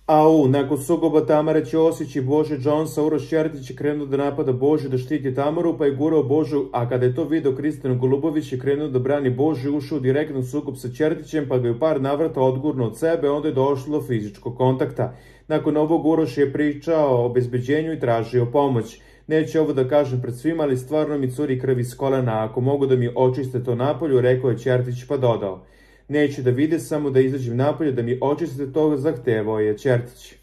Nakon sukoba Tamare Ćosić i Bože Jonesa, Uroš Čertić je krenuo da napada Božu, da štiti Tamaru, pa je gurao Božu, a kada je to video Kristijan Golubović je krenuo da brani Božu i ušao direktno u sukob sa Čertićem, pa ga je u par navrata odgurnuo od sebe, onda je došlo do fizičkog kontakta. Nakon ovog Uroš je pričao o obezbeđenju i tražio pomoć. Neću ovo da kažem pred svima, ali stvarno mi curi krv iz kolena, ako mogu da mi očiste to napolju, rekao je Čertić pa dodao. Neću da vide, samo da izađem napolje da mi očistite to, zahtevao je Čertić.